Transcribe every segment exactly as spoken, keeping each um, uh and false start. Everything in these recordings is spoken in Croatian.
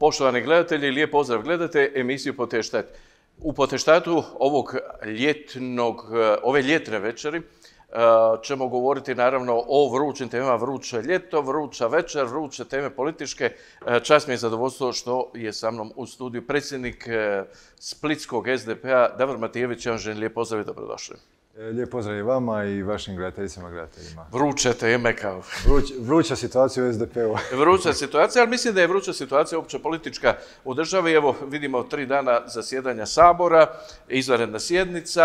Poštovani gledatelji, lijep pozdrav, gledate emisiju Poteštat. U Poteštatu ovog ljetnog, ove ljetne večeri ćemo govoriti naravno o vrućim temama, vruće ljeto, vruća večer, vruće teme političke. Čast mi je zadovoljstvo što je sa mnom u studiju predsjednik splitskog S D P-a Davor Matijević. Ja vam želim lijep pozdrav i dobrodošli. Lijep pozdrav i vama i vašim gledateljicama i gledateljima. Vruće teme kao... Vruć, vruća situacija u S D P-u. Vruća situacija, ali mislim da je vruća situacija opće politička u državi. Evo, vidimo tri dana zasjedanja Sabora, izvanredna sjednica,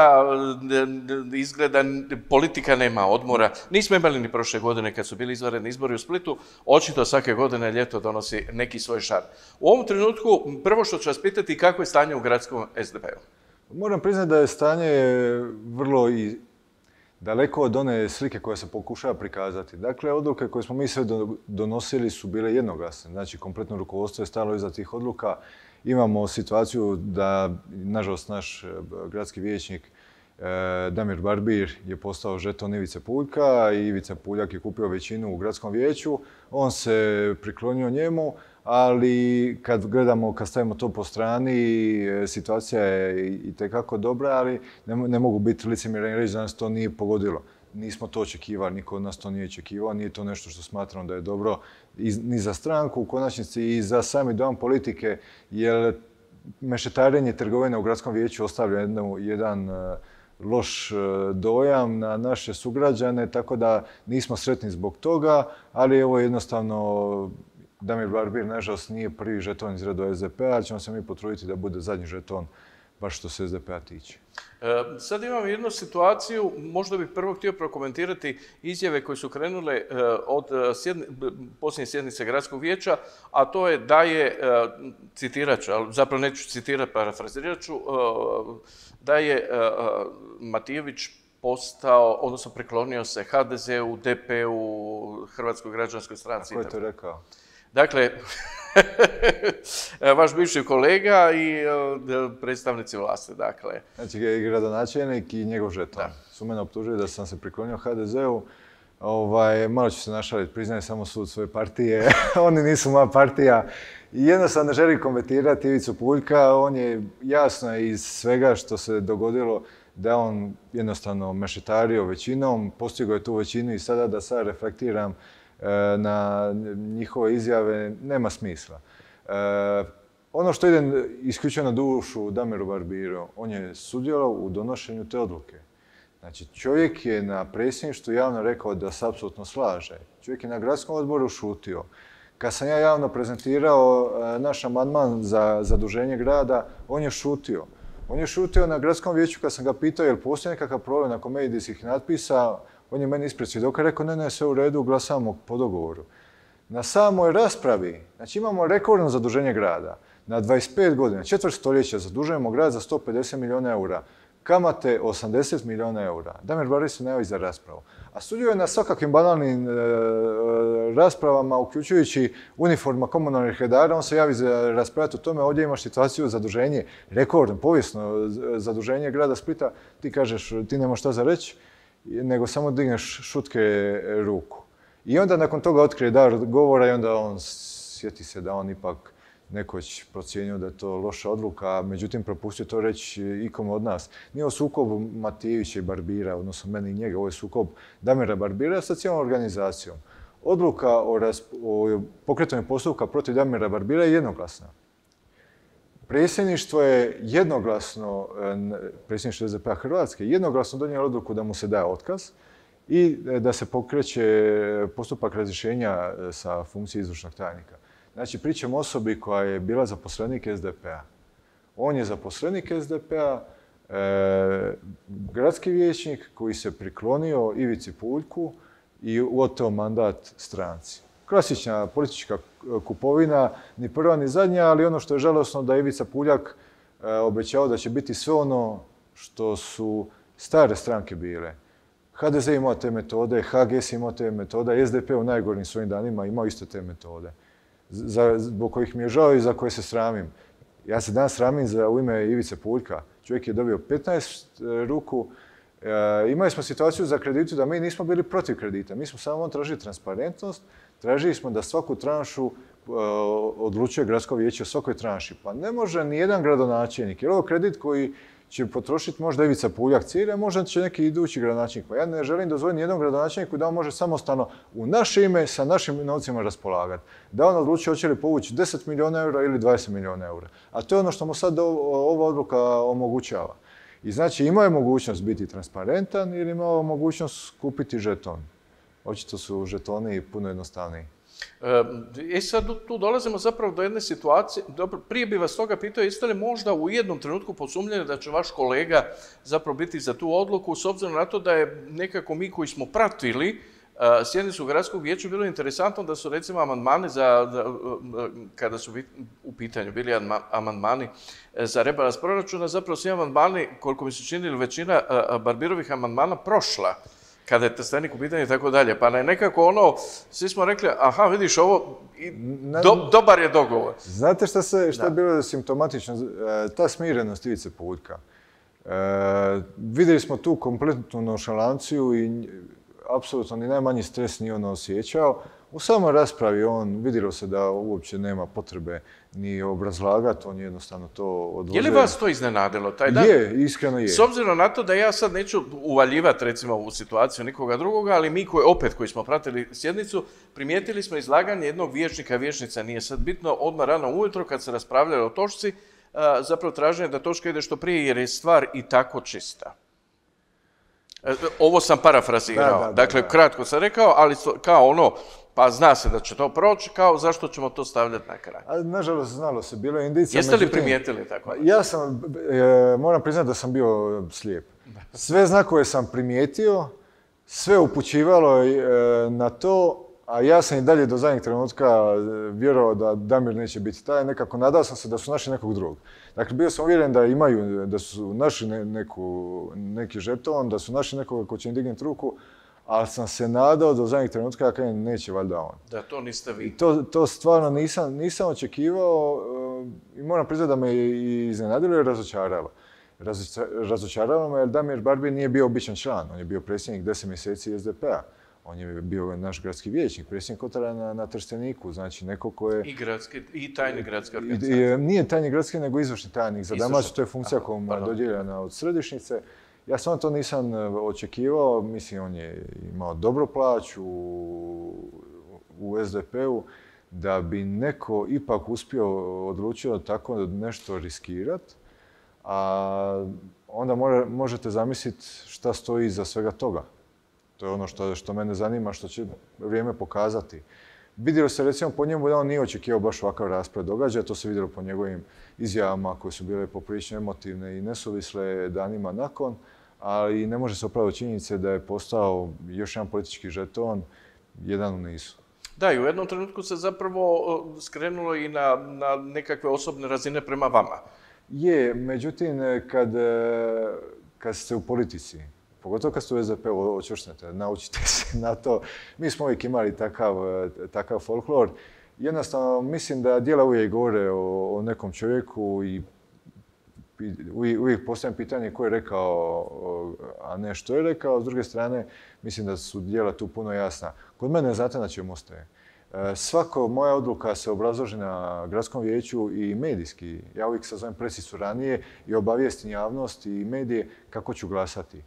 izgleda politika nema odmora. Nismo imali ni prošle godine kad su bili izvanredni izbori u Splitu. Očito svake godine ljeto donosi neki svoj šar. U ovom trenutku, prvo što ću vas pitati, kako je stanje u gradskom S D P-u? Moram priznati da je stanje vrlo i daleko od one slike koja se pokušava prikazati. Dakle, odluke koje smo mi sve donosili su bile jednoglasne. Znači, kompletno rukovodstvo je stalo iza tih odluka. Imamo situaciju da, nažalost, naš gradski vijećnik Damir Barbir je postao žeton Ivice Puljka i Ivica Puljak je kupio većinu u gradskom vijeću. On se priklonio njemu, ali kad gledamo, kad stavimo to po strani, situacija je itekako dobra, ali ne, ne mogu biti licemjerni i reći da nas to nije pogodilo. Nismo to očekivali, niko od nas to nije očekivao, nije to nešto što smatramo da je dobro ni za stranku, u konačnici i za sami dojam politike, jer mešetarenje trgovine u gradskom vijeću ostavlja jednu, jedan loš dojam na naše sugrađane, tako da nismo sretni zbog toga, ali ovo jednostavno Damir Barbir, nažalost, nije prvi žeton iz reda S D P-a, ali ćemo se mi potruditi da bude zadnji žeton, baš što se S D P-a tiče. E, sad imam jednu situaciju, možda bih prvo htio prokomentirati izjave koje su krenule e, od sjedni, posljednje sjednice gradskog vijeća, a to je da je, e, citirat ću, ali zapravo neću citirati, parafrazirat ću, e, da je e, Matijević postao, odnosno priklonio se H D Z-u, D P-u, Hrvatskoj građanskoj stranci. A ko je to rekao? Dakle, vaš bivši kolega i predstavnici vlasti, dakle. Znači, gradonačelnik i njegov žeton su mene optužili da sam se priklonio H D Z-u. Ovaj, malo ću se našaliti, priznajem samo sud svoje partije. Oni nisu moja partija. I jednostavno ne želim komentirati Ivicu Puljka. On je jasno iz svega što se dogodilo da on jednostavno mešetario većinom, postigao je tu većinu i sada da sad reflektiram na njihove izjave, nema smisla. E, ono što ide isključivo na dušu Damiru Barbiru, on je sudjelovao u donošenju te odluke. Znači, čovjek je na predsjedništvu javno rekao da se apsolutno slaže. Čovjek je na gradskom odboru šutio. Kad sam ja javno prezentirao naš amandman za zaduženje grada, on je šutio. On je šutio na gradskom vijeću kad sam ga pitao je li postoji nekakav problem nakon medijskih natpisa. On je meni ispred svjedoka rekao, ne, ne, sve u redu, glasamo po dogovoru. Na samoj raspravi, znači imamo rekordno zaduženje grada. Na dvadeset pet godina, četvrt stoljeća, zadužujemo grad za sto pedeset milijuna eura. Kamate osamdeset milijuna eura. Damir Barbir se najavi za raspravu. A sudjeluje na svakakvim banalnim e, raspravama, uključujući uniforma komunalnih redara. On se javi za raspravljati o tome. Ovdje imaš situaciju zaduženje, rekordno, povijesno zaduženje grada Splita. Ti kažeš, ti nemaš šta za reći, nego samo digneš šutke ruku. I onda nakon toga otkrije dar govora i onda on sjeti se da on ipak nekoć procijenio da je to loša odluka, međutim propustio to reći ikom od nas. Nije ovo sukob Matijevića i Barbira, odnosno meni i njega, ovo je sukob Damira Barbira sa cijelom organizacijom. Odluka o, o pokretanju postupka protiv Damira Barbira je jednoglasna. Predsjedništvo je jednoglasno, predsjedništvo S D P-a Hrvatske, jednoglasno donijelo odluku da mu se daje otkaz i da se pokreće postupak razrješenja sa funkcije izvršnog tajnika. Znači, pričam o osobi koja je bila zaposlenik S D P-a. On je zaposlenik S D P-a, e, gradski vijećnik koji se priklonio Ivici Puljku i oteo mandat stranci. Klasična politička kupovina, ni prva ni zadnja, ali ono što je žalosno da je Ivica Puljak e, obećao da će biti sve ono što su stare stranke bile. H D Z imao te metode, H G S imao te metode, S D P u najgorim svojim danima imao iste te metode, za, zbog kojih mi je žao i za koje se sramim. Ja se danas sramim za u ime Ivice Puljka. Čovjek je dobio petnaest ruku. E, imali smo situaciju za kreditu da mi nismo bili protiv kredita. Mi smo samo tražili transparentnost, tražili smo da svaku tranšu odlučuje gradsko vijeće o svakoj tranši. Pa ne može ni jedan gradonačelnik, jer ovo kredit koji će potrošiti možda Ivica Puljak Cire, možda će neki idući gradonačelnik. Pa ja ne želim dozvoliti nijednom gradonačelniku da on može samostalno u naše ime sa našim novcima raspolagati. Da on odlučuje hoće li povući deset milijuna eura ili dvadeset milijuna eura. A to je ono što mu sad ova odluka omogućava. I znači imao je mogućnost biti transparentan ili imao mogućnost kupiti žeton. Očito su žetoni puno jednostavniji. E sad tu dolazimo zapravo do jedne situacije, dobro, prije bi vas toga pitao, jeste li možda u jednom trenutku posumnjeni da će vaš kolega zapravo biti za tu odluku, s obzirom na to da je nekako mi koji smo pratili sjednicu gradskog vijeća bilo interesantno da su recimo amandmani za, kada su u pitanju bili amandmani za rebalans proračuna, zapravo svi amandmani, koliko mi se čini, većina Barbirovih amandmana prošla kada je Trstenik u pitanju i tako dalje. Pa je nekako ono, svi smo rekli, aha, vidiš ovo, do, dobar je dogovor. Znate šta, se, šta je bilo simptomatično? Ta smirenost Ivice Puljka. E, vidjeli smo tu kompletnu nonšalanciju i apsolutno ni najmanji stres nije on osjećao. U samoj raspravi on vidjelo se da uopće nema potrebe ni obrazlagati, on jednostavno to odložio. Je li vas to iznenadilo taj dan? Je, iskreno je. S obzirom na to da ja sad neću uvaljivati recimo u situaciju nikoga drugoga, ali mi koji, opet koji smo pratili sjednicu, primijetili smo izlaganje jednog vijećnika, vijećnica, nije sad bitno, odmah rano ujutro kad se raspravljalo o točci, zapravo traženje da točka ide što prije jer je stvar i tako čista. Ovo sam parafrazirao, da, da, dakle da, da. Kratko sam rekao, ali kao ono, pa zna se da će to proći, kao zašto ćemo to stavljati na kraj. A, nažalost, znalo se, bilo je indicija. Jeste li primijetili tako? Ja sam, e, moram priznati da sam bio slijep. Sve znakove sam primijetio, sve upućivalo e, na to, a ja sam i dalje do zadnjeg trenutka vjerovao da Damir neće biti taj, nekako nadao sam se da su našli nekog drugog. Dakle, bio sam uvjeren da imaju, da su našli ne, neku, neki žeton, da su našli nekoga ko će im dignuti ruku, ali sam se nadao do zadnjeg trenutka da kaj neće valjda on. Da, to niste vi. I to, to stvarno nisam, nisam očekivao i moram priznati da me i iznenadilo i razočaralo. Razočaralo me jer Damir Barbir nije bio običan član, on je bio predsjednik deset mjeseci S D P-a. On je bio naš gradski vijećnik, predsjednik Kotara na, na Trsteniku, znači neko ko je... I, gradski, i tajni gradski organizacija. I, i, nije tajni gradski, nego izvršni tajnik za Dalmaciju, to je funkcija koja mu je dodijeljena od središnjice. Ja samo to nisam očekivao, mislim, on je imao dobru plaću u, u S D P-u, da bi neko ipak uspio odlučio tako nešto riskirati, a onda more, možete zamisliti šta stoji iza svega toga. To je ono što, što mene zanima, što će vrijeme pokazati. Vidjelo se recimo po njemu da on nije očekivao baš ovakav raspred događaja, to se vidjelo po njegovim izjavama koje su bile poprilično emotivne i nesuvisle danima nakon, ali ne može se opraviti činjenice da je postao još jedan politički žeton, jedan u nizu. Da, i u jednom trenutku se zapravo skrenulo i na, na nekakve osobne razine prema vama. Je, međutim, kad, kad ste u politici, pogotovo kad ste u S D P-u očvršnete, naučite se na to. Mi smo uvijek imali takav, takav folklor. Jednostavno, mislim da djela uvijek govore o, o nekom čovjeku i uvijek postavljam pitanje ko je rekao, a ne što je rekao. S druge strane, mislim da su djela tu puno jasna. Kod mene znate na čemu ostaje. Svako moja odluka se obrazloži na gradskom vijeću i medijski. Ja uvijek sazovem presicu ranije i obavijestim javnost i medije kako ću glasati.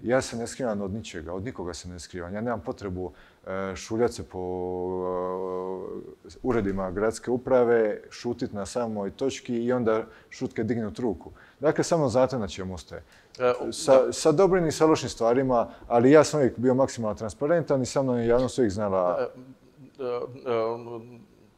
Ja se ne skrivam od ničega, od nikoga se ne skrivam. Ja nemam potrebu šuljati se po uredima gradske uprave, šutiti na samoj točki i onda šutke dignuti ruku. Dakle, samo znate na čemu ostaje. Sa, sa dobrim i sa lošim stvarima, ali ja sam uvijek bio maksimalno transparentan i sa mnom je javnost uvijek znala...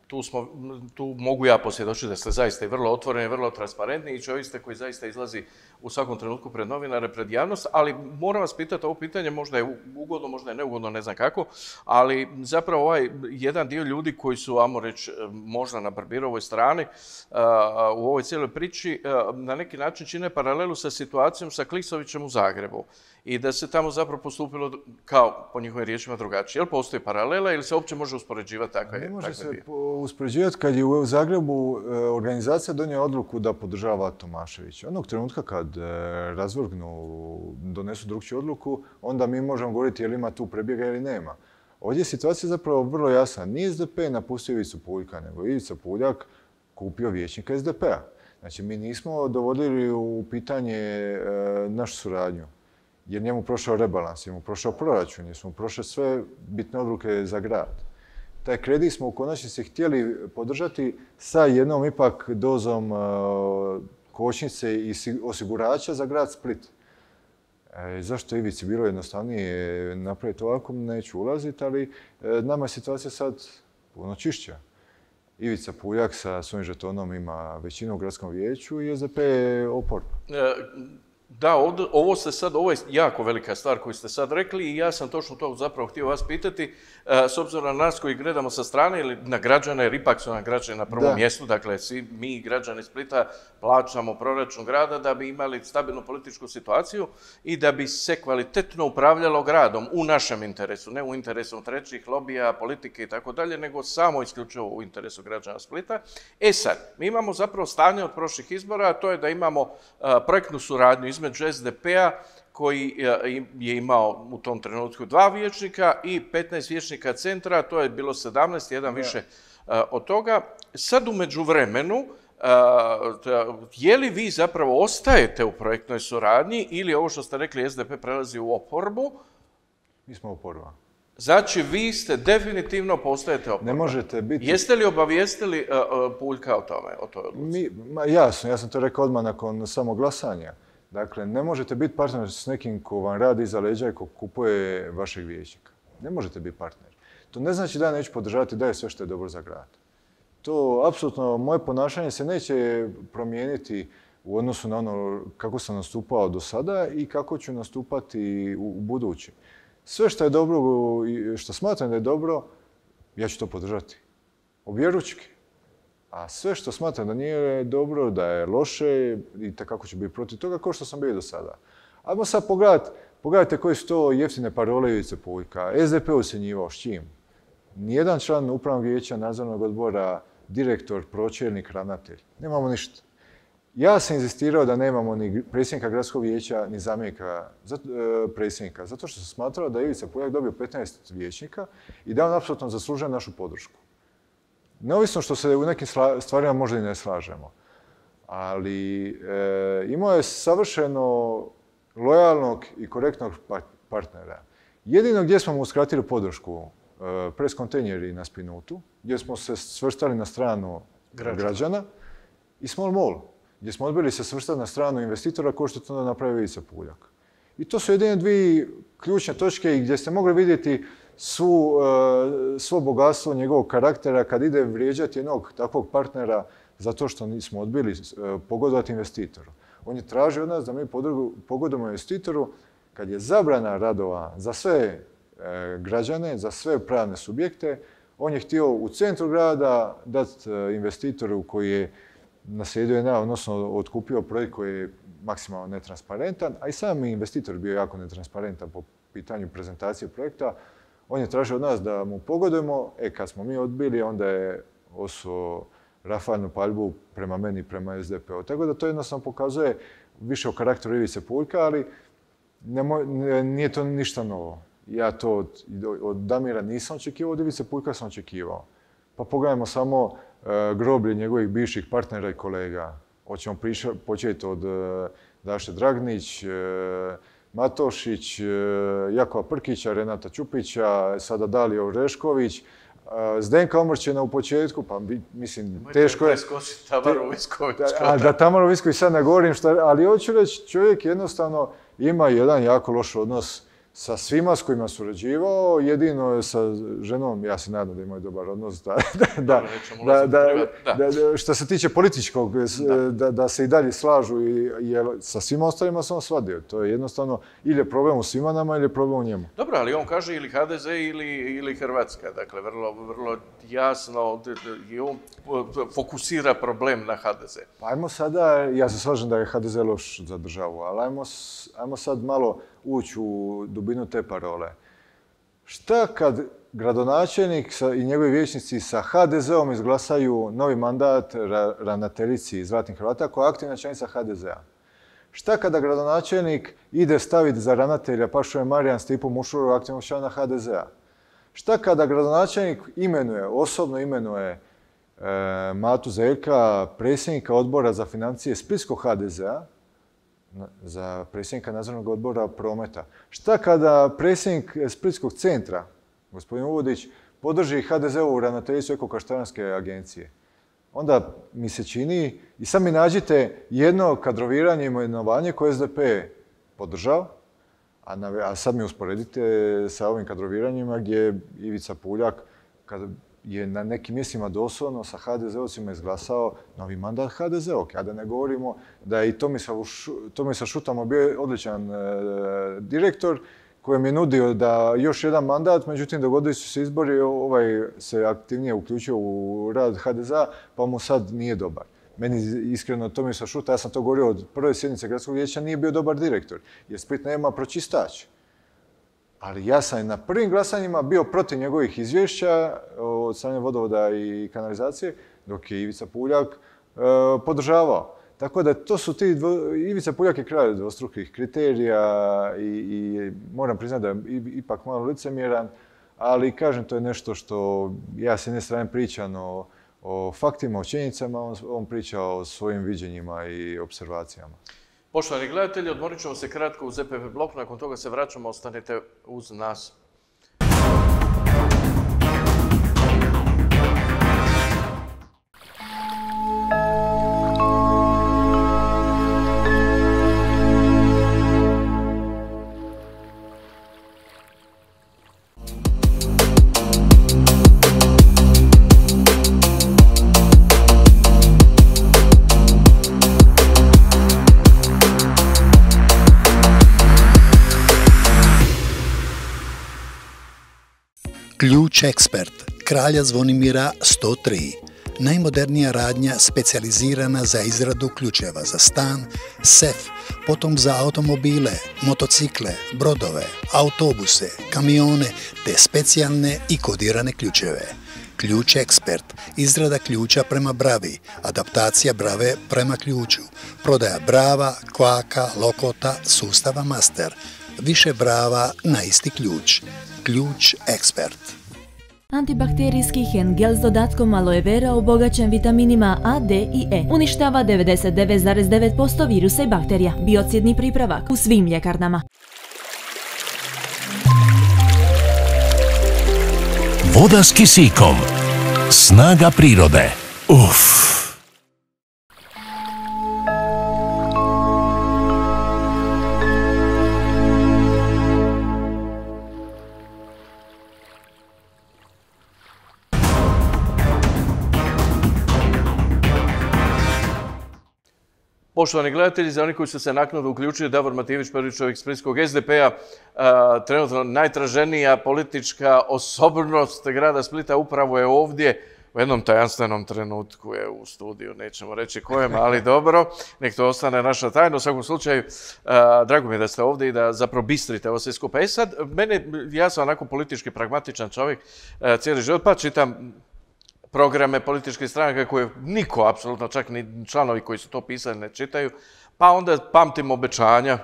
Tu, smo, tu mogu ja posvjedočiti da ste zaista i vrlo otvoreni, vrlo transparentni i čovjek ste koji zaista izlazi u svakom trenutku pred novinare, pred javnost, ali moram vas pitati ovo pitanje, možda je ugodno, možda je neugodno, ne znam kako, ali zapravo ovaj jedan dio ljudi koji su, ajmo reći, možda na Barbirovoj strani u ovoj cijeloj priči, na neki način čine paralelu sa situacijom sa Klisovićem u Zagrebu i da se tamo zapravo postupilo kao, po njihovim riječima, drugačije. Je li postoji paralela ili se uopće može uspoređivati takve dio? Ne može se uspoređivati kad je u Zagrebu organizacija donijela odluku da podržava Tomaševića. Onog trenutka kad razvrgnu, donesu drugčiju odluku, onda mi možemo govoriti je li ima tu prebjega ili nema. Ovdje je situacija zapravo vrlo jasna. Nije S D P napustio Ivicu Puljka, nego Ivica Puljak kupio vijećnika S D P-a. Znači, mi nismo dovodili u pitanje e, našu suradnju, jer njemu prošao rebalans, njemu prošao proračun, jer smo prošle sve bitne odluke za grad. Taj kredit smo u konačnici htjeli podržati sa jednom ipak dozom e, kočnice i osigurača za grad Split. E, zašto Ivici bilo jednostavnije napraviti ovako, neću ulaziti, ali e, nama je situacija sad puno čišća. Ivica Puljak sa svojim žetonom ima većinu u gradskom vijeću i S D P je oporba. E, Da, ovo ste sad, ovo je jako velika stvar koju ste sad rekli i ja sam točno to zapravo htio vas pitati, s obzirom na nas koji gledamo sa strane ili na građane, jer ipak su nam građani na prvom mjestu, dakle svi mi građani Splita plaćamo proračun grada da bi imali stabilnu političku situaciju i da bi se kvalitetno upravljalo gradom u našem interesu, ne u interesu trećih lobija, politike i tako dalje, nego samo isključivo u interesu građana Splita. E sad, mi imamo zapravo stanje od prošlih izbora, a to je da imamo projektnu suradnju između S D P-a koji je imao u tom trenutku dva vijećnika i petnaest vijećnika centra, to je bilo sedamnaest, jedan više od toga. Sad u međuvremenu, je li vi zapravo ostajete u projektnoj suradnji ili ovo što ste rekli S D P prelazi u oporbu? Mi smo oporba. Znači, vi ste definitivno postajete oporba. Ne možete biti... Jeste li obavijestili Puljka o tome, o toj odluci? Jasno, ja sam to rekao odmah nakon samog glasanja. Dakle, ne možete biti partner s nekim ko vam radi iza leđa i ko kupuje vašeg vijećnika. Ne možete biti partner. To ne znači da ja neću podržavati da je sve što je dobro za grad. To, apsolutno, moje ponašanje se neće promijeniti u odnosu na ono kako sam nastupao do sada i kako ću nastupati u, u budući. Sve što je dobro i što smatram da je dobro, ja ću to podržati. Objeručki. A sve što smatram da nije dobro, da je loše i kako ću biti protiv toga, kao što sam bio do sada. Ajmo sad pogledati, pogledajte koje su to jeftine parole Ivice Puljka. S D P ucjenjivao s čim? Nijedan član upravnog vijeća, nadzornog odbora, direktor, pročelnik, ravnatelj. Nemamo ništa. Ja sam inzistirao da nemamo ni predsjednika gradskog vijeća, ni zamjenika predsjednika, zato što sam smatrao da je Ivica Puljak dobio petnaest vijećnika i da on apsolutno zaslužuje našu podršku. Neovisno što se u nekim stvarima možda i ne slažemo, ali e, imao je savršeno lojalnog i korektnog partnera. Jedino gdje smo mu uskratili podršku, e, pres kontejneri na Spinutu, gdje smo se svrstali na stranu građana, građana i Small Mall, gdje smo odbili se svrstati na stranu investitora kao što to onda napravio Ivica Puljak. I to su jedine dvije ključne točke gdje ste mogli vidjeti Svu, svo bogatstvo njegovog karaktera kad ide vrijeđati jednog takvog partnera zato što nismo odbili pogodovati investitoru. On je tražio od nas da mi pogodujemo investitoru kad je zabrana radova za sve građane, za sve pravne subjekte. On je htio u centru grada dati investitoru koji je naslijedio, odnosno otkupio projekt koji je maksimalno netransparentan, a i sam investitor bio jako netransparentan po pitanju prezentacije projekta. On je tražio od nas da mu pogodujemo, e kad smo mi odbili, onda je osuo rafalnu paljbu prema meni i prema S D P-u. Tako da to jednostavno pokazuje više o karakteru Ivice Puljka, ali ne, nije to ništa novo. Ja to od, od Damira nisam očekivao, od Ivice Puljka sam očekivao. Pa pogledajmo samo uh, groblje njegovih bivših partnera i kolega. Hoćemo početi od uh, Daše Dragnić, uh, Matošić, Jakova Prkića, Renata Čupića, sada Dalija Orešković, Zdenka Omrčena u početku, pa mislim, teško je... Tamaru Visković. A da Tamaru Visković sad ne govorim, šta, ali hoću reći, čovjek jednostavno ima jedan jako loš odnos sa svima s kojima surađivao, jedino sa ženom, ja se nadam da imaju dobar odnos, da, da, da, da, da, što se tiče političkog, da, da se i dalje slažu, jer sa svima ostalima sam svadio. To je jednostavno ili je problem u svima nama ili je problem u njemu. Dobro, ali on kaže ili H D Z ili, ili Hrvatska, dakle vrlo, vrlo jasno i on fokusira problem na H D Z. Pa ajmo sada, ja se slažem da je H D Z loš za državu, ali ajmo, ajmo sad malo ući u dubinu te parole. Šta kad gradonačelnik i njegovi vijećnici sa H D Z-om izglasaju novi mandat ravnateljici Zlatnih Hrvata koja je aktivna članica H D Z-a? Šta kada gradonačelnik ide staviti za ravnatelja Pašove Marijan Stipu Mušuru, aktivnog člana H D Z-a? Šta kada gradonačelnik imenuje, osobno imenuje e, Matu Zeljka, predsjednika odbora za financije Splitskog H D Z-a, za predsjednika nadzornog odbora prometa? Šta kada predsjednik Splitskog centra, gospodin Uvodić, podrži H D Z-ovu ravnateljicu Eko-kaštelanske agencije? Onda mi se čini, i sad mi nađite jedno kadroviranje i imenovanje koje S D P podržao, a, na, a sad mi usporedite sa ovim kadroviranjima gdje je Ivica Puljak, kada je na nekim mjestima doslovno sa ha de ze ovcima izglasao novi mandat ha de ze ovog. A da ne govorimo da je i Tomislav, Tomislav Šutamo bio odličan e, direktor kojem je nudio da još jedan mandat, međutim dogodili su se izbori, ovaj se aktivnije uključio u rad ha de zea, pa mu sad nije dobar. Meni iskreno Tomislav Šuta, ja sam to govorio od prve sjednice gradskog vijeća, nije bio dobar direktor, jer Split nema pročistač. Ali ja sam na prvim glasanjima bio protiv njegovih izvješća od strane vodovoda i kanalizacije, dok je Ivica Puljak e, podržavao. Tako da to su ti, dvo, Ivica Puljak je kralj dvostrukih kriterija i, i moram priznati da je ipak malo licemjeran, ali kažem, to je nešto što ja s jedne strane pričam o, o faktima, o činjenicama, on, on priča o svojim viđenjima i observacijama. Poštovani gledatelji, odmorit ćemo se kratko u Z P P bloku, nakon toga se vraćamo, ostanite uz nas. Ključ Ekspert, Kralja Zvonimira sto tri. Najmodernija radnja specijalizirana za izradu ključeva za stan, sef, potom za automobile, motocikle, brodove, autobuse, kamione te specijalne i kodirane ključeve. Ključ Ekspert, izrada ključa prema bravi, adaptacija brave prema ključu, prodaja brava, kvaka, lokota, sustava master, više brava na isti ključ. Ključ Ekspert. Antibakterijski hen gel s dodatkom aloe vera obogaćen vitaminima A, D i E. Uništava devedeset devet zarez devet posto virusa i bakterija. Biocidni pripravak u svim ljekarnama. Voda s kisikom. Snaga prirode. Uf. Poštovani gledatelji, za oni koji su se naknadno uključili, Davor Matijević, prvi čovjek Splitskog S D P-a, trenutno najtraženija politička osobnost grada Splita, upravo je ovdje. U jednom tajanstvenom trenutku je u studiju, nećemo reći kojem, ali dobro, nek to ostane naša tajna. U svakom slučaju, drago mi je da ste ovdje i da zapravo bistrite ovo sve skupa. E sad, mene, ja sam onako politički pragmatičan čovjek cijeli život, pa čitam programe političkih stranaka koje niko, apsolutno čak ni članovi koji su to pisali ne čitaju, pa onda pamtim obećanja,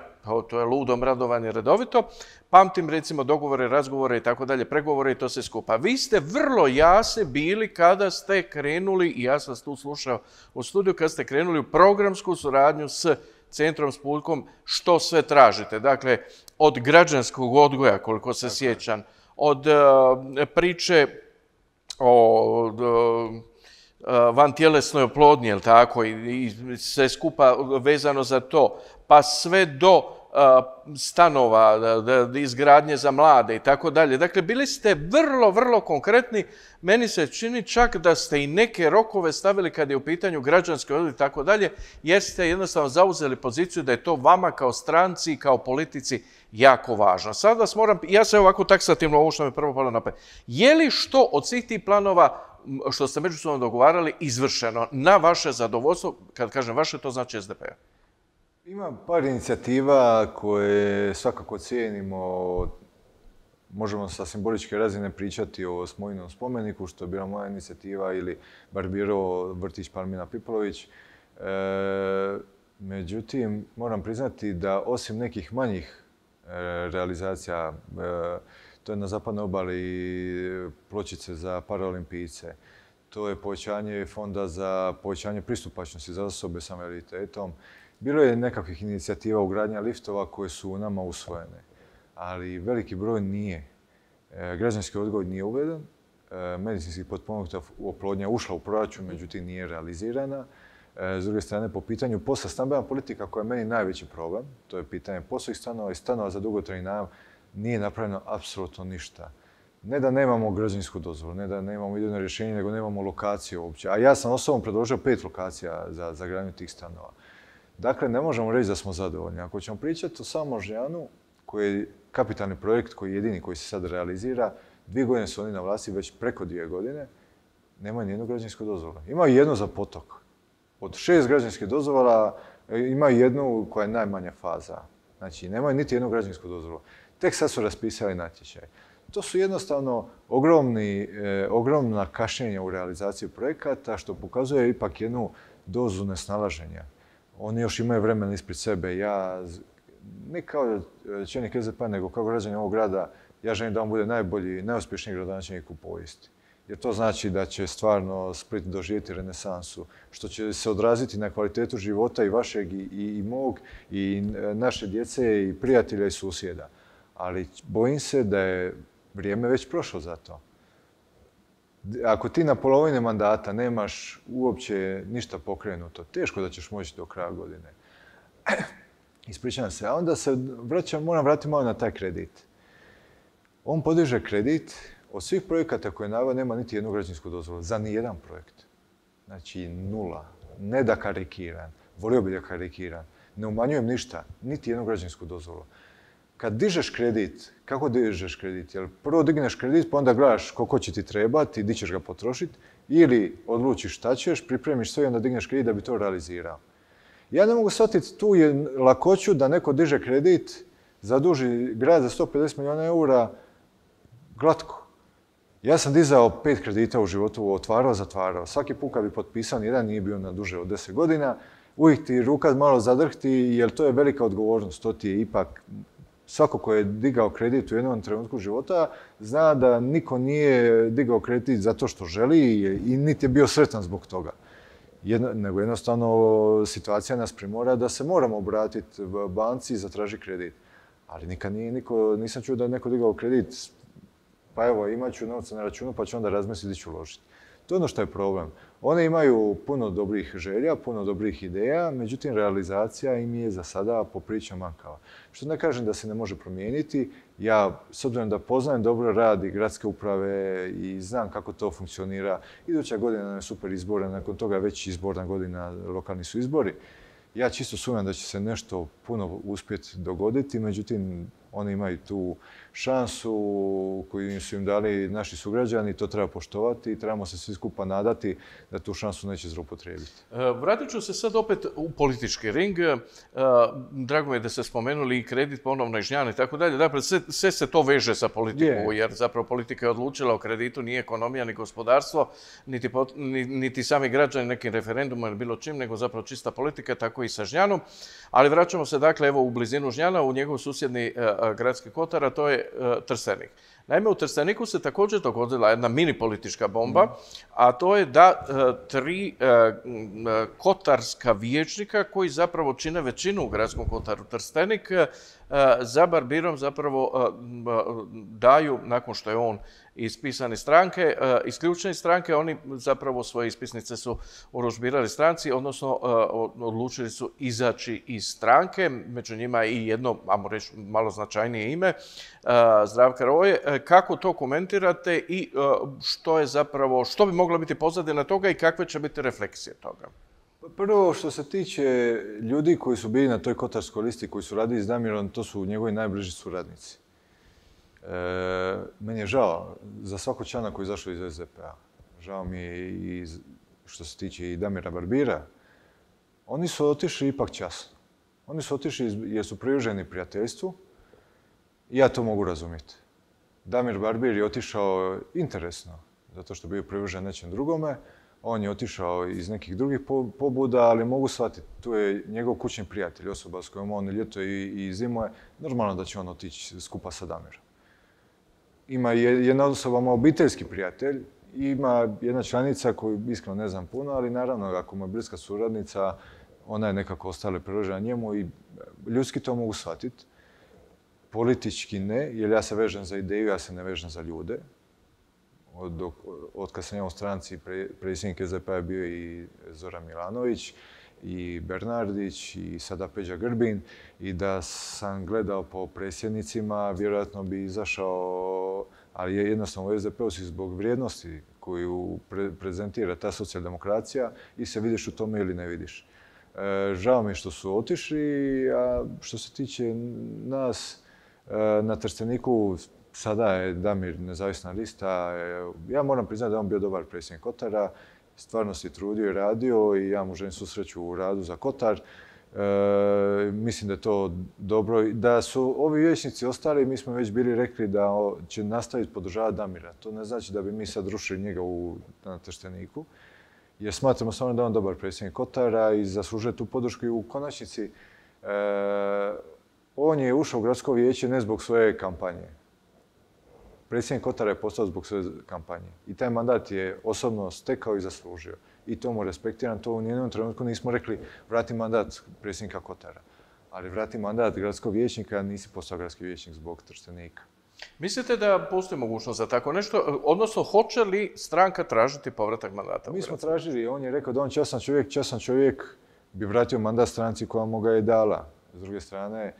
to je ludom radovanje redovito, pamtim recimo dogovore, razgovore i tako dalje, pregovore i to se skupa. Vi ste vrlo jasni bili kada ste krenuli, i ja sam tu slušao u studiju, kada ste krenuli u programsku suradnju s Centrom s Puljkom, što sve tražite. Dakle, od građanskog odgoja, koliko se sjećam, od uh, priče o vantjelesnoj oplodnji, jel tako, i sve skupa vezano za to, pa sve do stanova, izgradnje za mlade i tako dalje. Dakle, bili ste vrlo, vrlo konkretni. Meni se čini čak da ste i neke rokove stavili kad je u pitanju građanski odgoj i tako dalje, jer ste jednostavno zauzeli poziciju da je to vama kao stranci i kao politici jako važno. Sad vas moram, ja se ovako taksativno, ovo što mi prvo palo na pamet, je li što od svih tih planova što ste međusobno dogovarali izvršeno na vaše zadovoljstvo? Kad kažem vaše, to znači S D P-a. Ima par inicijativa koje svakako cijenimo. Možemo sa simboličke razine pričati o Smojinom spomeniku, što je bila moja inicijativa, ili Barbirovo vrtić Palmina Pipolović. E, međutim, moram priznati da osim nekih manjih e, realizacija, e, To je na zapadnoj obali pločice za paraolimpijce. To je povećanje fonda za povećanje pristupačnosti za osobe sa invaliditetom. Bilo je nekakvih inicijativa ugradnja liftova koje su nama usvojene, ali veliki broj nije. Građanski odgoj nije uveden, medicinski potpomognuta oplodnja ušla u proračun, međutim nije realizirana. S druge strane, po pitanju posla, stambena politika koja je meni najveći problem, to je pitanje poslovnih stanova i stanova za dugotrajni najam, nije napravljeno apsolutno ništa. Ne da nemamo građevinsku dozvolu, ne da nemamo idejno rješenje, nego nemamo lokaciju uopće. A ja sam osobno predložio pet lokacija za, za gradnju tih stanova. Dakle, ne možemo reći da smo zadovoljni. Ako ćemo pričati o samom Moždrijanu, koji je kapitalni projekt, koji je jedini koji se sad realizira, dvije godine su oni na vlasti, već preko dvije godine, nemaju nijednu građevinsku dozvolu. Imaju jednu za potok. Od šest građevinskih dozvola imaju jednu koja je najmanja faza. Znači, nemaju niti jednu građevinsku dozvolu. Tek sad su raspisali natječaj. To su jednostavno ogromni, eh, ogromna kašnjenja u realizaciji projekata, što pokazuje ipak jednu dozu nesnalaženja. Oni još imaju vremena ispred sebe. Ja, ne kao čelnik S D P-a, nego kao građanin ovog grada, ja želim da on bude najbolji, najuspješniji gradonačelnik u povijesti. Jer to znači da će stvarno Split doživjeti renesansu, što će se odraziti na kvalitetu života i vašeg, i, i mog, i naše djece, i prijatelja, i susjeda. Ali bojim se da je vrijeme već prošlo za to. Ako ti na polovini mandata nemaš uopće ništa pokrenuto, teško da ćeš moći do kraja godine. Ispričavam se, a onda se vraćam, moram vratiti malo na taj kredit. On podiže kredit, od svih projekata koje je naveo nema niti jednu građevinsku dozvolu, za nijedan projekt. Znači nula. Ne da karikiram, volio bi da karikiram. Ne umanjujem ništa, niti jednu građevinsku dozvolu. Kad dižeš kredit, kako dižeš kredit? Jel prvo digneš kredit, pa onda gledaš koliko će ti trebati, di ćeš ga potrošiti, ili odlučiš šta ćeš, pripremiš sve i onda digneš kredit da bi to realizirao. Ja ne mogu shvatiti tu je lakoću da neko diže kredit, zaduži grad za sto pedeset milijuna eura, glatko. Ja sam dizao pet kredita u životu, otvarao, zatvarao. Svaki put kad bi potpisao, jedan nije bio na duže od deset godina, uvijek ti ruka malo zadrhti, jer to je velika odgovornost. To ti je ipak, svako ko je digao kredit u jednom trenutku života, zna da niko nije digao kredit zato što želi i niti je bio sretan zbog toga. Jedno, nego jednostavno situacija nas primora da se moramo obratiti banci i zatraži kredit. Ali nikad nije niko, nisam čuo da je neko digao kredit, pa evo, imat ću novca na računu pa ću onda razmisliti gdje ću uložiti. To je ono što je problem. One imaju puno dobrih želja, puno dobrih ideja, međutim realizacija im je za sada poprilično mankava. Što ne kažem da se ne može promijeniti, ja s obzirom da poznajem dobro rad i gradske uprave i znam kako to funkcionira, iduća godina je super izbora, nakon toga već izborna godina, lokalni su izbori. Ja čisto sumnjam da će se nešto puno uspjeti dogoditi, međutim, oni imaju tu šansu koju su im dali naši sugrađani, to treba poštovati i trebamo se svi skupa nadati da tu šansu neće zloupotrijebiti. Vratit ću se sad opet u politički ring. Drago mi je da ste spomenuli i kredit ponovno i Žnjan i tako dalje. Dakle, sve, sve se to veže sa politikom, jer zapravo politika je odlučila o kreditu, nije ekonomija ni gospodarstvo, niti, niti sami građani nekim referendumom ili bilo čim, nego zapravo čista politika, tako i sa Žnjanom. Ali vraćamo se dakle evo u blizinu Žnjana, u njegov susjedni gradski kotar, a to je Trstenik. Naime, u Trsteniku se također dogodila jedna mini politička bomba, a to je da tri kotarska vijećnika koji zapravo čine većinu u gradskom kotaru Trstenik za barbirom zapravo daju, nakon što je on ispisan iz stranke, isključeni stranke, oni zapravo svoje ispisnice su urudžbirali stranci, odnosno odlučili su izaći iz stranke, među njima i jedno, ajmo reći, malo značajnije ime, Zdravka Roje. Kako to komentirate i što je zapravo, što bi mogla biti pozadina toga i kakve će biti refleksije toga? Prvo, što se tiče ljudi koji su bili na toj kotarskoj listi, koji su radili s Damirom, to su njegovi najbliži suradnici. E, meni je žao za svakog člana koji je izašao iz S D P-a. Žao mi je i što se tiče i Damira Barbira. Oni su otišli ipak časno. Oni su otišli jer su privrženi prijateljstvu i ja to mogu razumjeti. Damir Barbir je otišao interesno, zato što je bio privržen nečem drugome. On je otišao iz nekih drugih pobuda, ali mogu shvatiti, tu je njegov kućni prijatelj, osoba s kojom on ljeto i zimuje, normalno da će on otići skupa sa Damirom. ima jedna osoba ma obiteljski prijatelj, ima jedna članica koju iskreno ne znam puno, ali naravno ako mu je bliska suradnica, ona je nekako ostala priložena njemu i ljudski to mogu shvatiti. Politički ne, jer ja se vežem za ideju, ja se ne vežem za ljude. Od, od kad sam ja u stranci, pre, predsjednik S D P-a je bio i Zoran Milanović, i Bernardić, i sada Peđa Grbin, i da sam gledao po predsjednicima, vjerojatno bi izašao, ali je jednostavno u S D P-u si zbog vrijednosti koju pre, prezentira ta socijaldemokracija i se vidiš u tome ili ne vidiš. E, žao mi je što su otišli, a što se tiče nas, e, na Trsteniku sada je Damir nezavisna lista. E, ja moram priznati da je on bio dobar predsjednik Kotara, stvarno se trudio i radio i ja mu želim svu sreću u radu za Kotar. E, mislim da je to dobro. Da su ovi vijećnici ostali, mi smo već bili rekli da će nastaviti podržavati Damira. To ne znači da bi mi sad rušili njega u, na Trsteniku, jer smatramo stvarno da je on dobar predsjednik Kotara i zaslužuje tu podršku i u konačnici. E, on je ušao u gradsko vijeće ne zbog svoje kampanje. Predsjednik Kotara je postao zbog svoje kampanje. I taj mandat je osobno stekao i zaslužio. I to mu respektiram. To u nijednom trenutku nismo rekli vrati mandat predsjednika Kotara. Ali vrati mandat gradskog vijećnika, nisi postao gradski vijećnik zbog Trstenika. Mislite da postoji mogućnost za tako nešto? Odnosno, hoće li stranka tražiti povratak mandata? Mi smo tražili. On je rekao da on častan čovjek, častan čovjek bi vratio mandat stranci koja mu ga je dala. S druge strane,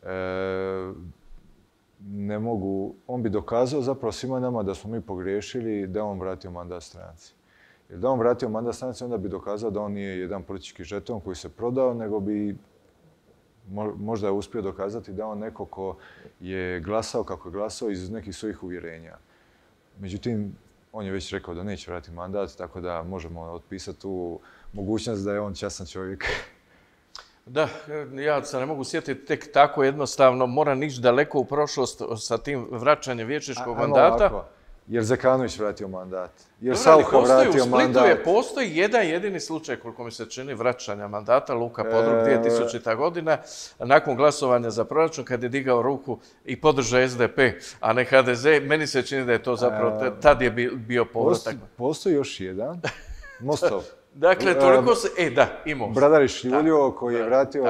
e, ne mogu, on bi dokazao zapravo svima nama da smo mi pogriješili da on vratio mandat stranci. Jer da on vratio mandat stranci, onda bi dokazao da on nije jedan politički žeton koji se prodao, nego bi možda je uspio dokazati da on neko ko je glasao kako je glasao iz nekih svojih uvjerenja. Međutim, on je već rekao da neće vratiti mandat, tako da možemo otpisati tu mogućnost da je on častan čovjek. Da, ja se ne mogu sjetiti tek tako jednostavno, moram ići daleko u prošlost sa tim vraćanjem vijećničkog mandata. Ovako, jer Zekanović vratio mandat, jer Saucha vratio mandat. U Splitu je postoji jedan jedini slučaj, koliko mi se čini, vraćanja mandata, Luka Podrug, dvije tisućita. godina, nakon glasovanja za proračun, kad je digao ruku i podržao S D P, a ne H D Z, meni se čini da je to zapravo, tad je bio povratak. Postoji još jedan, Mostov. Dakle, toliko se... E, da, imao. Bradarić Julio, koji je vratio,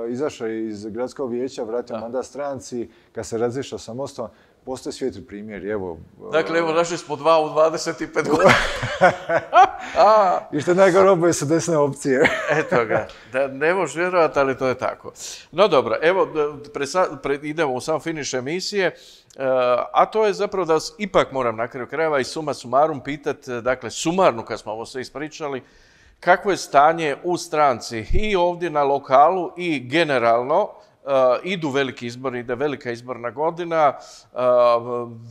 izašao iz gradskog vijeća, vratio mandat stranci, kad se razišao sa Mostom, postoje svijetli primjer, evo... Dakle, evo, našli smo dva u dvadeset pet godina. I što je najgore, oboje su desne opcije. Eto ga, da ne možeš vjerovati, ali to je tako. No dobro, evo, idemo u sam finiš emisije, a to je zapravo da vas ipak moram na kraju krajeva i suma sumarum pitati, dakle, sumarno kad smo ovo sve ispričali, kakvo je stanje u stranci i ovdje na lokalu i generalno. Uh, idu veliki izbori, ide velika izborna godina, uh,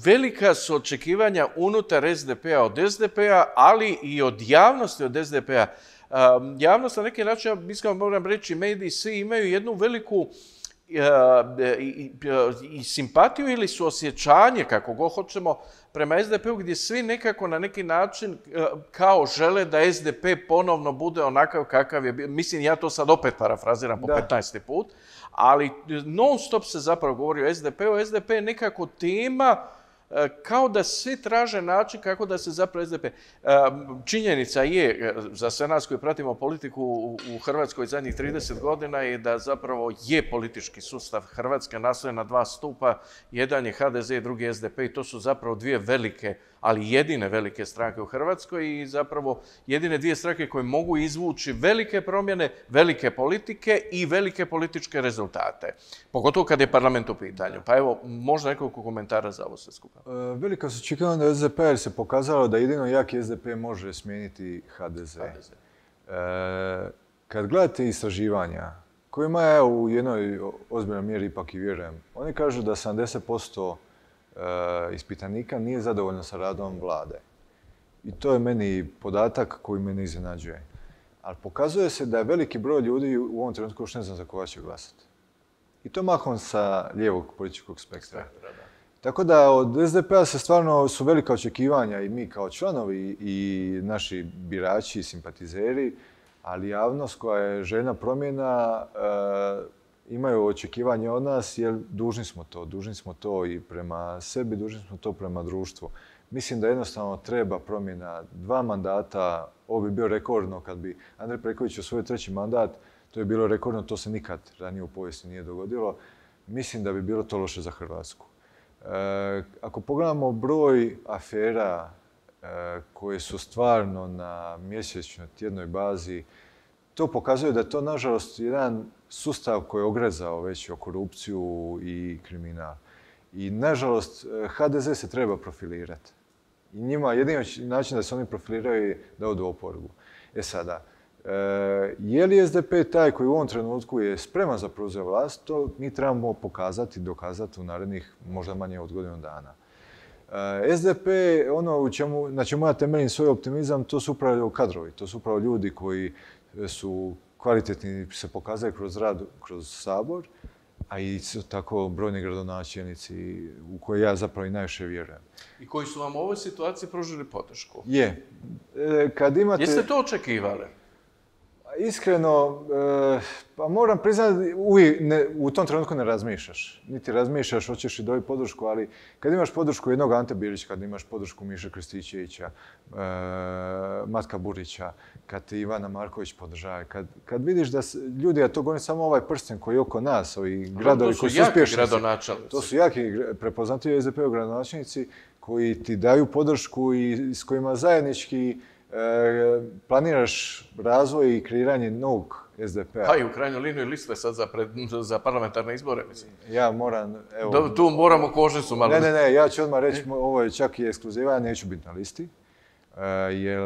velika su očekivanja unutar S D P-a od S D P-a, ali i od javnosti od S D P-a. Uh, javnost na neki način, mislim, moram reći, mediji svi imaju jednu veliku I, i, i simpatiju ili suosjećanje, kako god hoćemo, prema S D P-u, gdje svi nekako na neki način kao žele da S D P ponovno bude onakav kakav je bio. Mislim, ja to sad opet parafraziram po petnaesti put, ali non stop se zapravo govori o S D P-u. S D P je nekako tema kao da svi traže način kako da se zapravo S D P... Činjenica je, za sve nas koji pratimo politiku u Hrvatskoj zadnjih trideset godina, je da zapravo je politički sustav Hrvatske nastojen na dva stupa. Jedan je H D Z i drugi S D P i to su zapravo dvije velike, ali jedine velike stranke u Hrvatskoj i zapravo jedine dvije stranke koje mogu izvući velike promjene, velike politike i velike političke rezultate. Pogotovo kad je parlament u pitanju. Pa evo, možda nekoliko komentara za ovo sve skupa. E, velika su očekivanja da S D P, jer se pokazalo da jedino jaki S D P može smijeniti H D Z. H D Z. E, kad gledate istraživanja, kojima ja u jednoj ozbiljnoj mjeri ipak i vjerujem, oni kažu da sedamdeset posto ispitanika nije zadovoljno sa radom vlade. I to je meni podatak koji me ne iznenađuje. Ali pokazuje se da je veliki broj ljudi u ovom trenutku još ne zna za koga će glasati. I to mahom sa lijevog političkog spektra. Tako da od S D P-a se stvarno su velika očekivanja i mi kao članovi i naši birači i simpatizeri, ali javnost koja je željna promjena imaju očekivanje od nas jer dužni smo to. Dužni smo to i prema sebi, dužni smo to prema društvu. Mislim da jednostavno treba promjena dva mandata. Ovo bi bio rekordno kad bi Andrej Plenković osvojio treći mandat. To je bilo rekordno, to se nikad ranije u povijesti nije dogodilo. Mislim da bi bilo to loše za Hrvatsku. E, ako pogledamo broj afera e, koje su stvarno na mjesečnoj, tjednoj bazi, to pokazuje da je to, nažalost, jedan sustav koji je ogrezao već o korupciju i kriminal. I, nažalost, ha de ze se treba profilirati. I njima jedini način da se oni profiliraju je da odu u oporbu. E sada, e, je li es de pe taj koji u ovom trenutku je spreman za preuzeti vlast, to mi trebamo pokazati, dokazati u narednih možda manje od godinu dana. E, es de pe, ono u čemu, na čemu ja temeljim svoj optimizam, to su upravo kadrovi, to su upravo ljudi koji su kvalitetni, se pokazaju kroz rad, kroz Sabor, a i tako brojni gradonačelnici u koje ja zapravo i najviše vjerujem. I koji su vam u ovoj situaciji pružili podršku? Je. E, kad imate... Jeste to očekivali? Iskreno, e, pa moram priznati, uvijek ne, u tom trenutku ne razmišljaš. Niti razmišljaš, hoćeš i dobiti podršku, ali kad imaš podršku jednog Ante Bilića, kad imaš podršku Miše Krstičevića, e, Matka Burića, kad ti Ivana Marković podržava, kad, kad vidiš da se, ljudi, a to govorim samo ovaj prsten koji je oko nas, ovi gradovi koji su uspješni. Gradonačelnici. To su jaki prepoznatljivi es de pe gradonačelnici koji ti daju podršku i s kojima zajednički E, planiraš razvoj i kreiranje novog es de pe-a. Pa i u krajnjoj liniji liste sad za, pred, za parlamentarne izbore, mislim. Ja moram, evo... Da, tu moramo kožnicu malo... Ne, ne, ne, ja ću odmah reći, ovo je čak i ekskluziva, ja neću biti na listi. E, jer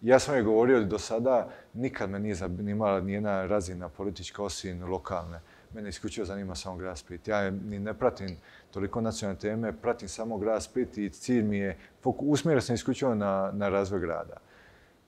ja sam je govorio do sada, nikad me nije zanimala nijedna razina politička osim lokalne. Mene isključivo zanima samo grad Split. Ja ni ne pratim toliko nacionalne teme, pratim samo grad Split i cilj mi je, usmjerio sam isključivo na, na razvoj grada.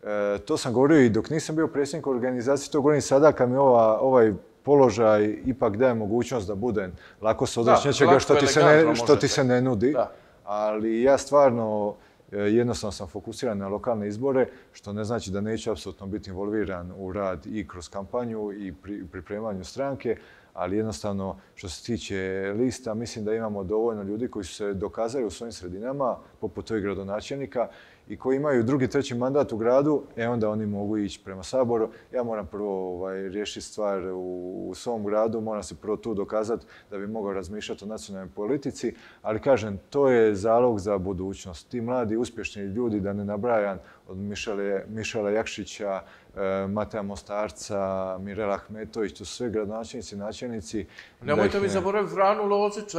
E, to sam govorio i dok nisam bio predsjednik organizacije, to govorim sada kad mi ova, ovaj položaj ipak daje mogućnost da budem lako se odreći nečega što ti se ne, što ti se ne nudi. Da. Ali ja stvarno jednostavno sam fokusiran na lokalne izbore, što ne znači da neću apsolutno biti involviran u rad i kroz kampanju i pri pripremanju stranke, ali jednostavno što se tiče lista, mislim da imamo dovoljno ljudi koji su se dokazali u svojim sredinama, poput ovih gradonačelnika, i koji imaju drugi, treći mandat u gradu, e onda oni mogu ići prema Saboru. Ja moram prvo ovaj, riješiti stvar u, u svom gradu, moram se prvo tu dokazati da bi mogao razmišljati o nacionalnoj politici, ali kažem, to je zalog za budućnost. Ti mladi, uspješni ljudi, da ne nabrajam, od Mišele, Mišela Jakšića, e, Mateja Mostarca, Mirela Ahmetović, to su sve gradonačelnici, načelnici. Nemojte mi zaboraviti Franu Lozića.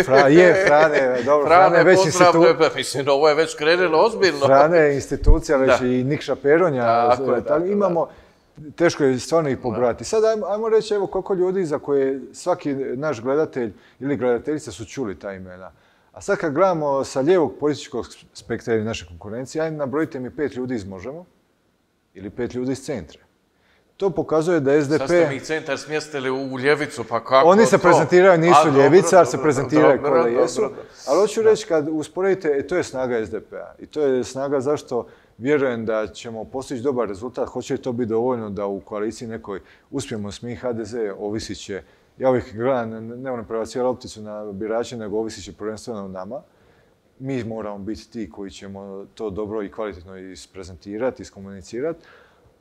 Fra, je, Frane, dobro, Frane, Frane već institucija. Mislim, ovo je već krenulo ozbiljno. Frane je institucija, već da. I Nikša Peronja. Tako je, tako, imamo, teško je stvarno ih pobrati. Sad ajmo, ajmo reći evo koliko ljudi za koje svaki naš gledatelj ili gledateljica su čuli ta imena. A sad kad gledamo sa lijevog političkog spektra ili naše konkurencije, ajde nabrojite mi pet ljudi iz Možemo ili pet ljudi iz Centra. To pokazuje da es de pe... Sad ste mi Centar smjestili u ljevicu, pa kako Oni se to? prezentiraju, nisu A, ljevica, ali se dobro, prezentiraju dobro, koje jesu. dobro. Ali hoću reći, kad usporedite, e, to je snaga es de pe-a. I to je snaga zašto vjerujem da ćemo postići dobar rezultat. Hoće li to biti dovoljno da u koaliciji nekoj uspijemo s mi ha de ze, ovisit će. Ja uvijek gledam, ne moram prebacivati lopticu na birače, nego ovisit će prvenstveno nama. Mi moramo biti ti koji ćemo to dobro i kvalitetno isprezentirati, iskomunicirati,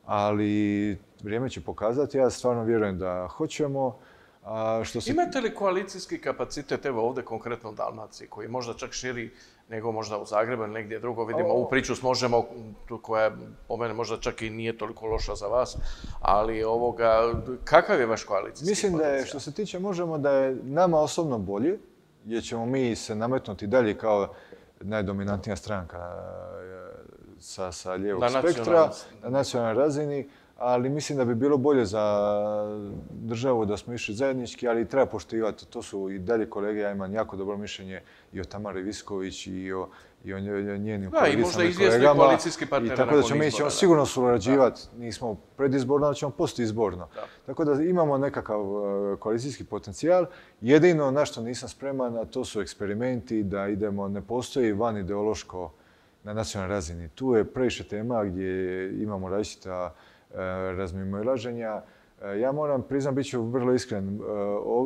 ali vrijeme će pokazati. Ja stvarno vjerujem da hoćemo. A što se... Imate li koalicijski kapacitet, evo ovdje konkretno u Dalmaciji, koji je možda čak širi nego možda u Zagrebu ili negdje drugo? Vidimo ovu priču s Možemo, koja po mene možda čak i nije toliko loša za vas, ali ovoga, kakav je vaš koalicijski Mislim potencijal? da je, što se tiče Možemo, da je nama osobno bolje, jer ćemo mi se nametnuti dalje kao najdominantnija stranka sa, sa lijevog na spektra, na nacionalnoj razini, ali mislim da bi bilo bolje za državu da smo išli zajednički, ali treba poštivati. To su i dalje kolege, ja imam jako dobro mišljenje i o Tamari Visković i o, i o njenim kolegicama i kolegama. I možda izvjesni koalicijski partner nakon izbora. Tako da ćemo, mi ćemo sigurno surađivati, nismo predizborno, ali ćemo postizborno. Da. Tako da imamo nekakav koalicijski potencijal. Jedino na što nisam spreman, a to su eksperimenti, da idemo, ne postoji van ideološko na nacionalnoj razini. Tu je previše tema gdje imamo različita razmimoilaženja. Ja moram priznam, bit ću vrlo iskren,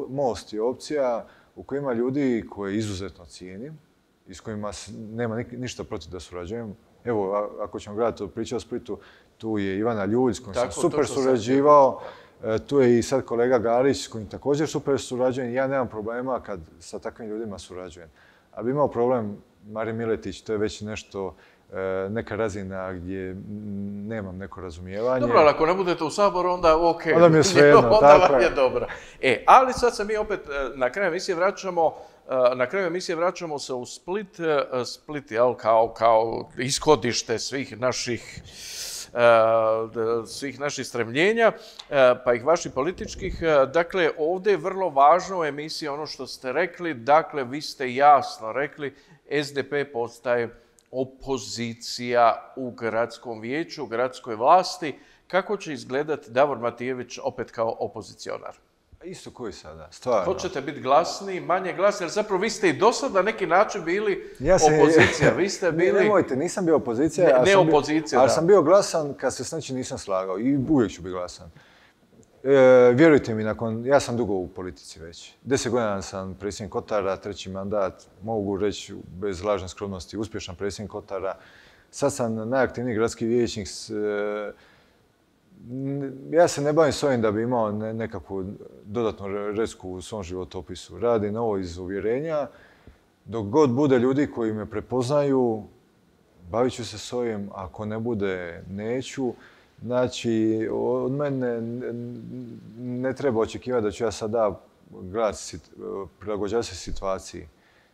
Most je opcija u kojoj ima ljudi koje izuzetno cijenim i s kojima nema ništa protiv da surađujem. Evo, ako ćemo gledati priču o Splitu, tu je Ivana Ljulj s kojim sam super surađivao, tu je i sad kolega Galić s kojim također super surađujem. Ja nemam problema kad sa takvim ljudima surađujem. Ali bi imao problem Marin Miletić, to je već nešto, neka razina gdje nemam neko razumijevanje. Dobro, ali ako ne budete u Saboru, onda ok. Onda mi je svejedno, tako vam je dobro. E, ali sad se mi opet na kraju emisije vraćamo, na kraju emisije vraćamo se u Split. Split, jel, kao, kao ishodište svih naših svih naših stremljenja, pa ih vaših političkih. Dakle, ovdje je vrlo važno u emisiji ono što ste rekli. Dakle, vi ste jasno rekli, S D P postaje opozicija u gradskom vijeću, u gradskoj vlasti. Kako će izgledati Davor Matijević opet kao opozicionar? Isto koji sada, stvarno. Hoćete biti glasniji, manje glasni, jer zapravo vi ste i do sad na neki način bili opozicija. Vi ste bili... Nemojte, nisam bio opozicija. Ne opozicija, da. Ali sam bio glasan kad se s nečim nisam slagao i uvijek ću biti glasan. Vjerujte mi, nakon, ja sam dugo u politici već. Deset godina sam predsjednik Kotara, treći mandat, mogu reći bez lažne skromnosti, uspješan predsjednik Kotara. Sad sam najaktivniji gradski vijećnik. Ja se ne bavim s ovim da bi imao nekakvu dodatnu resku u svom životopisu. Radim ovo iz uvjerenja. Dok god bude ljudi koji me prepoznaju, bavit ću se s ovim. Ako ne bude, neću. Znači, od mene ne treba očekivati da ću ja sada gledati, prilagođavati se situaciji.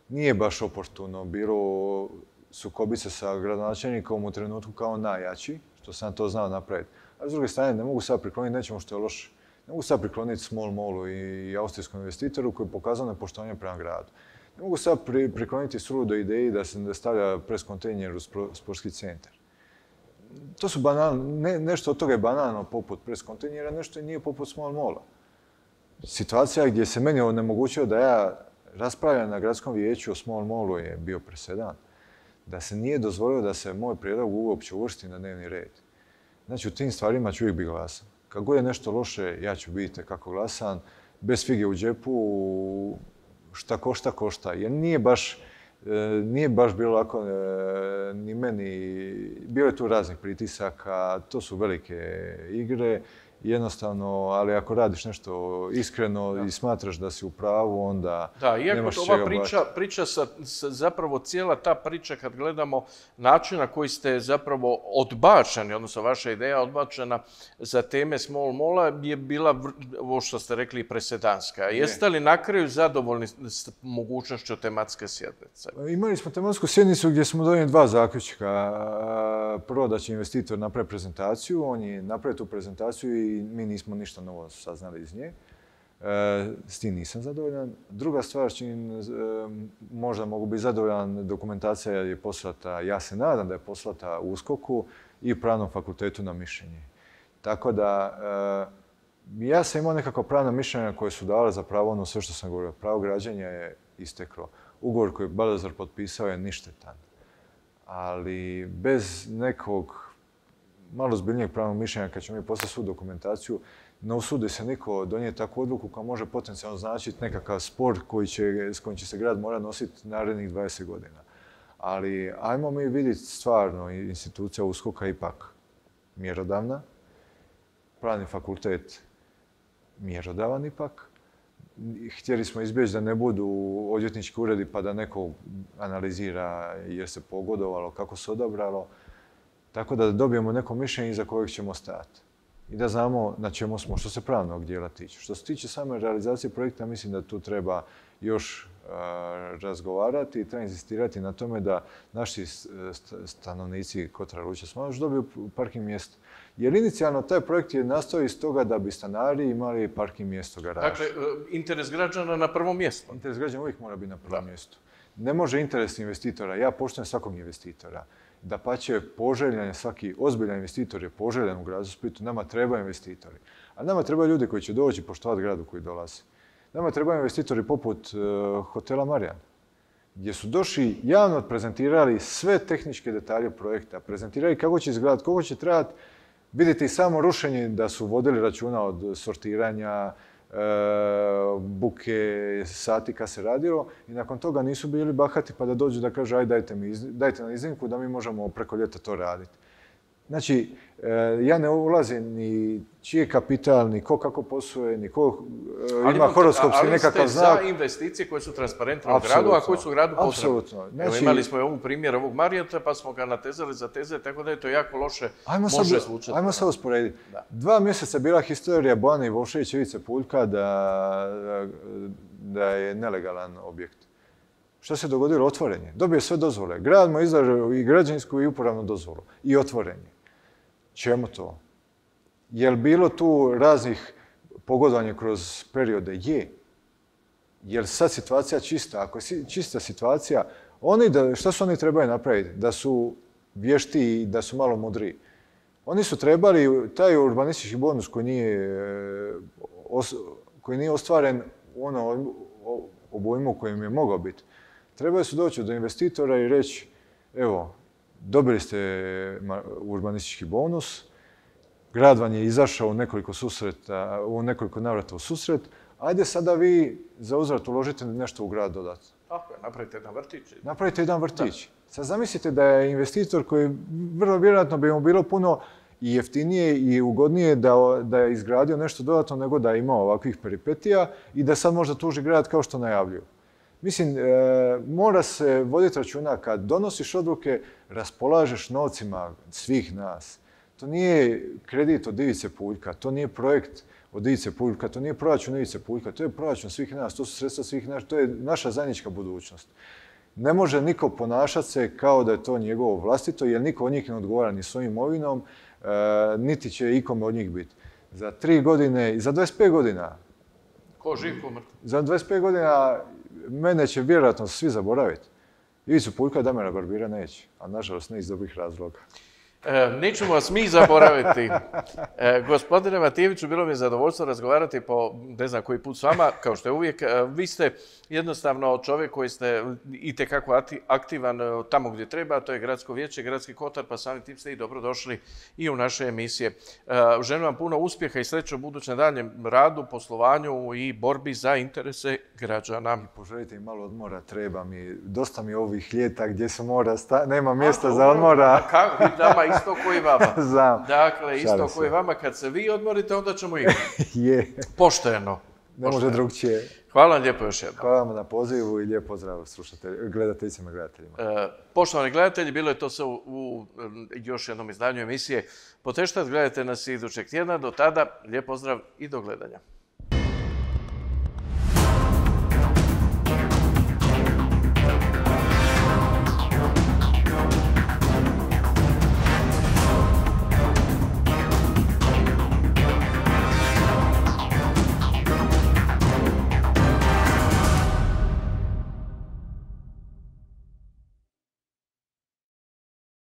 Nije baš oportuno bilo sukobiti se sa gradonačelnikom u trenutku kao najjači, što sam to znao napraviti. A s druge strane, ne mogu sad prikloniti nečemu što je loše. Ne mogu sad prikloniti Small Mallu i austrijskom investitoru koji je pokazao nepoštovanje prema gradu. Ne mogu sad prikloniti suludo ideji da se stavlja pres kontejner u sportski centar. To su banalno, ne, nešto od toga je banalno poput pres kontejnera, nešto nije poput Small Malla. Situacija gdje se meni onemogućio da ja raspravljam na gradskom vijeću o Small Mallu je bio presedan. Da se nije dozvolio da se moj prijedlog uopće uvrsti na dnevni red. Znači, u tim stvarima ću uvijek biti glasan. Kako god je nešto loše, ja ću biti kako glasan, bez fige u džepu, šta košta, košta. Jer nije baš, nije baš bilo lako ni meni, bilo je tu raznih pritisaka, to su velike igre, jednostavno, ali ako radiš nešto iskreno da. I smatraš da si u pravu, onda da, nemaš čega ova priča, priča sa, sa, zapravo cijela ta priča kad gledamo način na koji ste zapravo odbačeni, odnosno vaša ideja odbačena za teme Small Malla je bila, ovo što ste rekli, presedanska. Ne. Jeste li na kraju zadovoljni s mogućnošću tematske sjednice? Imali smo tematsku sjednicu gdje smo donijeli dva zaključka. Prvo da će investitor napraviti prezentaciju, on je napravio tu prezentaciju i i mi nismo ništa novo saznali iz nje. S tim nisam zadovoljan. Druga stvar, čim možda mogu biti zadovoljan, dokumentacija je poslata, ja se nadam da je poslata U S K O K-u i Pravnom fakultetu na mišljenje. Tako da, ja sam imao nekako pravna mišljenja koje su dala za pravo ono sve što sam govorio. Pravo građenja je isteklo. Ugovor koji je Balazar potpisao je ništetan. Ali bez nekog malo zbiljnijeg pravnog mišljenja, kad ćemo mi poslati svu dokumentaciju, ne usudi se niko donijeti takvu odluku koja može potencijalno značiti nekakav spor koji će, s kojim će se grad mora nositi narednih dvadeset godina. Ali ajmo mi vidjeti stvarno, institucija U S K O K-a ipak mjerodavna, pravni fakultet mjerodavan ipak. Htjeli smo izbjeći da ne budu odvjetnički uredi pa da neko analizira jer se pogodovalo, kako se odabralo. Tako da dobijemo neko mišljenje iza kojeg ćemo stajati. I da znamo na čemu smo, što se pravnog dijela tiče. Što se tiče same realizacije projekta, mislim da tu treba još uh, razgovarati i treba insistirati na tome da naši stanovnici Kotara Luča Smailović dobiju parking mjesto. Jer inicijalno taj projekt je nastao iz toga da bi stanari imali parking mjesto garaža. Dakle, interes građana na prvom mjestu. Interes građana uvijek mora biti na prvom mjestu. Ne može interes investitora, ja poštujem svakog investitora. Dapače, poželjan je svaki ozbiljan investitor je poželjan u gradu Splitu. Nama treba investitori. A nama treba ljudi koji će doći poštovati gradu koji dolazi. Nama treba investitori poput uh, hotela Marijan, gdje su došli javno prezentirali sve tehničke detalje projekta, prezentirali kako će izgledati, koliko će trajati, Vidite i samo rušenje da su vodili računa od sortiranja, buke, sati kad se radilo i nakon toga nisu bili bahati pa da dođu da kažu aj dajte, mi, dajte nam iznimku da mi možemo preko ljeta to raditi. Znači, ja ne ulazim ni čiji je kapital, ni ko kako posluje, ni ko ima horoskopski nekakav znak. Ali ste za investicije koje su transparentne u gradu, a koje su u gradu potrebne. Apsolutno. Znači, imali smo i ovu primjer ovog Marjota, pa smo ga natezali za teze, tako da je to jako loše može zvučati. Ajmo sad usporediti. Dva mjeseca bila historija Bojana Ivoševića i Ivice Puljka da, da je nelegalan objekt. Što se dogodilo? Otvorenje. Dobije sve dozvole. Grad mu izdao i građansku i uporabnu dozvolu. I otvorenje. Čemu to? Je li bilo tu raznih pogodovanja kroz periode? Je. Je li sad situacija čista? Ako je čista situacija, oni da, šta su oni trebali napraviti? Da su vješti i da su malo mudriji. Oni su trebali taj urbanistički bonus koji nije, koji nije ostvaren u ono obujmu kojem je mogao biti. Trebali su doći do investitora i reći, evo, dobili ste urbanistički bonus, grad vam je izašao u nekoliko susreta, u nekoliko navrata u susret, ajde sada vi za uzvrat uložite nešto u grad dodatno. Tako je, napravite jedan vrtić. Napravite jedan vrtić. Sad zamislite da je investitor koji vrlo vjerojatno bi mu bilo puno i jeftinije i ugodnije da, da je izgradio nešto dodatno nego da je imao ovakvih peripetija i da sad možda tuži grad kao što najavljuju. Mislim, e, mora se voditi računa kad donosiš odluke, raspolažeš novcima svih nas. To nije kredit od Ivice Puljka, to nije projekt od Ivice Puljka, to nije proračun Ivice Puljka, to je proračun svih nas, to su sredstva svih nas, to je naša zajednička budućnost. Ne može niko ponašati se kao da je to njegovo vlastito, jer niko od njih ne odgovara ni svojim imovinom, e, niti će ikome od njih biti. Za tri godine i za dvadeset pet godina. Ko živ, ko mrtav. Za dvadeset pet godina mene će vjerojatno svi zaboraviti. Ivicu Puljka, Damira Barbira neće, a nažalost ne iz dobrih razloga. E, nećemo vas mi zaboraviti. E, gospodine Matijeviću, bilo mi je zadovoljstvo razgovarati po ne znam koji put s vama, kao što je uvijek. E, vi ste jednostavno čovjek koji ste itekako aktivan tamo gdje treba, to je Gradsko vijeće, Gradski kotar, pa samim tim ste i dobrodošli i u naše emisije. E, želim vam puno uspjeha i sreće u budućem daljem radu, poslovanju i borbi za interese građana. I poželite im malo odmora, treba mi. Dosta mi ovih ljeta gdje se mora, sta... nema mjesta a, za odmora. Kako? Dama isto koji vama. Znam. Dakle, isto koji vama. Kad se vi odmorite, onda ćemo igrati. Je. Pošteno. Ne može drugčije. Hvala vam lijepo još jednom. Hvala vam na pozivu i lijep pozdrav gledateljicama i gledateljima. E, poštovani gledatelji, bilo je to sve u, u još jednom izdanju emisije Poteštat. Gledajte nas idućeg tjedna. Do tada, lijep pozdrav i do gledanja.